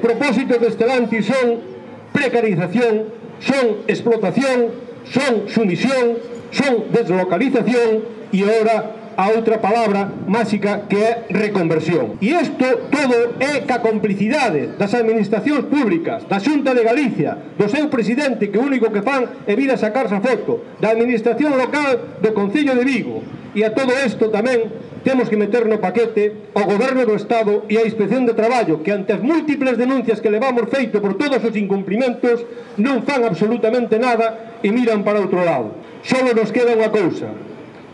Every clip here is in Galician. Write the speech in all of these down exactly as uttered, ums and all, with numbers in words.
propósitos de Stellantis son precarización, son explotación, son sumisión, son deslocalización e ahora a outra palabra máxica que é reconversión. E isto todo é ca complicidade das administracións públicas, da Xunta de Galicia, do seu presidente, que o único que fan é vir a sacarse a foto, da administración local do Concello de Vigo. E a todo isto tamén temos que meter no paquete o Goberno do Estado e a Inspección de Traballo, que ante as múltiples denuncias que levamos feito por todos os incumprimentos non fan absolutamente nada e miran para outro lado. Só nos queda unha cousa: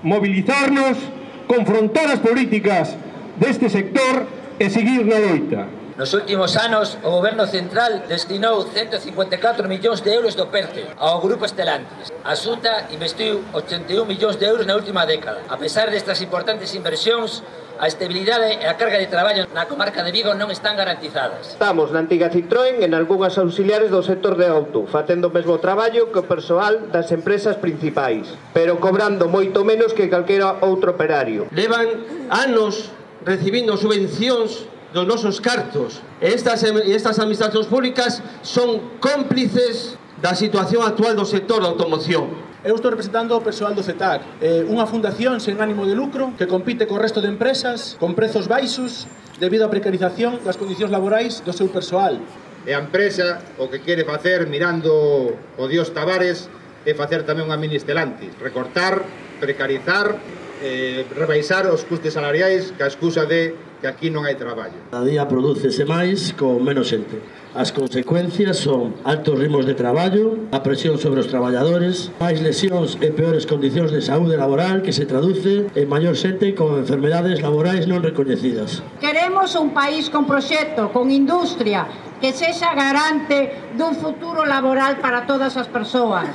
mobilizarnos, confrontar as políticas deste sector e seguir na loita. Nos últimos anos, o Goberno Central destinou ciento cincuenta e catro millóns de euros do PERTE ao Grupo Stellantis. A Xunta investiu ochenta e un millóns de euros na última década. A pesar destas importantes inversións, a estabilidade e a carga de traballo na comarca de Vigo non están garantizadas. Estamos na antiga Citroën en algunhas auxiliares do sector de auto, facendo o mesmo traballo que o persoal das empresas principais, pero cobrando moito menos que calquera outro operario. Levan anos recibindo subvencións dos nosos cartos e estas, e estas administracións públicas son cómplices da situación actual do sector da automoción. Eu estou representando o persoal do C E T A C, eh, unha fundación sen ánimo de lucro que compite co resto de empresas con prezos baixos debido á precarización das condicións laborais do seu persoal. E a empresa o que quere facer, mirando o Dios Tavares, é facer tamén unha mini Stellantis, recortar, precarizar, eh, rebaixar os custes salariais ca excusa de que aquí non hai traballo. Cada día prodúcese máis con menos xente. As consecuencias son altos ritmos de traballo, a presión sobre os traballadores, máis lesións e peores condicións de saúde laboral que se traduce en maior xente con enfermedades laborais non recoñecidas. Queremos un país con proxecto, con industria, que sexa garante dun futuro laboral para todas as persoas.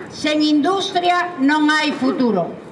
Sen industria non hai futuro.